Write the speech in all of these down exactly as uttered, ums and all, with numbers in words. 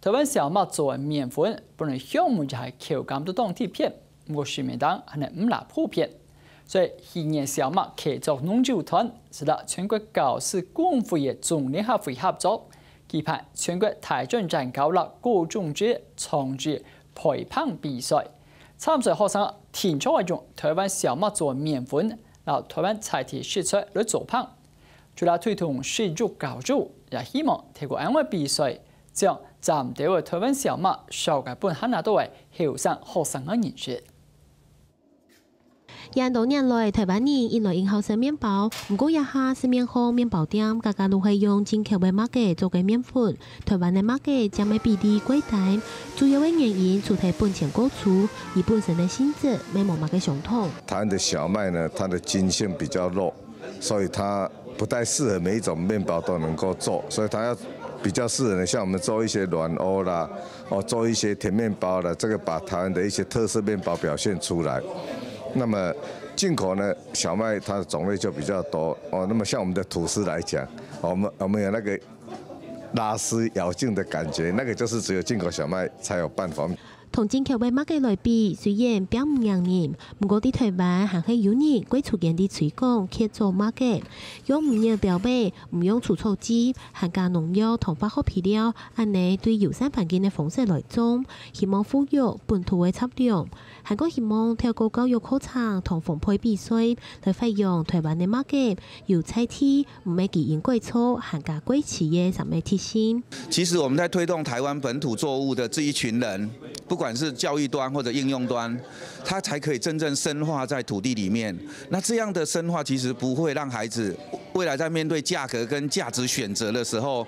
台灣小麥做个麵粉，本來香味也係口感都當特別，毋過市面頂還係毋罅普遍。所以去年小麥契作農友團，就摎全國教師公會个總聯合會合作，舉辦全國大專院校个高中職創意焙餅比賽。參賽學生定著愛用台灣小麥做个麵粉，摎台灣在地食材來做餅。 除了推動食育教育，也希望透過恁樣个比賽，將嶄新个台灣小麥紹介分還較多个後生學生个認識。恁多年來，台灣人一來因好食麵包，毋過這下市面項麵包店，家家都係用進口个麥秸做个麵粉，台灣个麥秸佔个比例過低，主要个原因除忒本錢過粗，佢本身个性質乜無麼个相同。台灣的小麥呢，它的筋性比較弱， 所以它不太適合每一種麵包都能夠做，所以它要比較適合的，像我們做一些軟歐啦，哦，做一些甜麵包啦，這個把台灣的一些特色麵包表現出來。那麼進口呢，小麥它的種類就比較多哦。那麼像我們的吐司來講，我們我們有那個拉絲咬勁的感覺，那個就是只有進口小麥才有辦法。 同進口个麥秸來比，雖然並毋驚人，毋過在台灣還係有人會出現在推廣契作麥秸，用無籽標本，毋用除草劑，還加農藥同化學肥料，恁呢對友善環境个方式來種，希望復育本土个雜糧，還過希望透過教育課程同烘焙比賽，來發揚台灣个麥秸有在地，毋係基因改造，還加過期个三个特性。 其實我們在推動台灣本土作物的這一群人，不管是教育端或者應用端，他才可以真正深化在土地裡面。那這樣的深化，其實不會讓孩子未來在面對價格跟價值選擇的時候，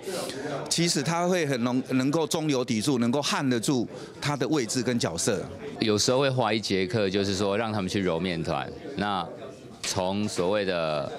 其實他會很能能夠中流砥柱，能夠撼得住他的位置跟角色。有時候會花一節課，就是說讓他們去揉麵團。那 從所謂的，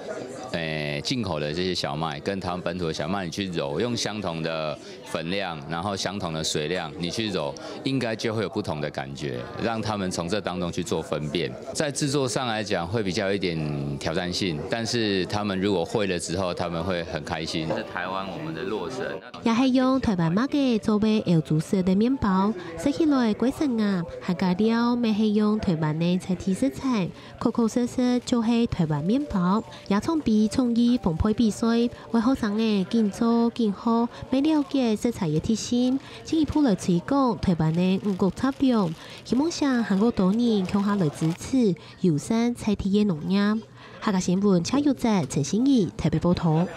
誒，進口的這些小麥跟台灣本土的小麥，你去揉，用相同的粉量，然後相同的水量，你去揉，應該就會有不同的感覺，讓他們從這當中去做分辨。在製作上來講，會比較有一點挑戰性，但是他們如果會了之後，他們會很開心。是台灣我們的洛神。也係用台灣麥秸做个歐洲式个麵包，食起來過生咬，還加料乜係用台灣个在地食材。 確確實實就係台灣麵包。這場比創意烘焙比賽，為學生仔緊做緊學，乜了解食材个特性，進一步來推廣台灣个五穀雜糧。希望請還過多人共下來支持友善在地个農業。客家新聞謝玉澤、陳心怡台北報導。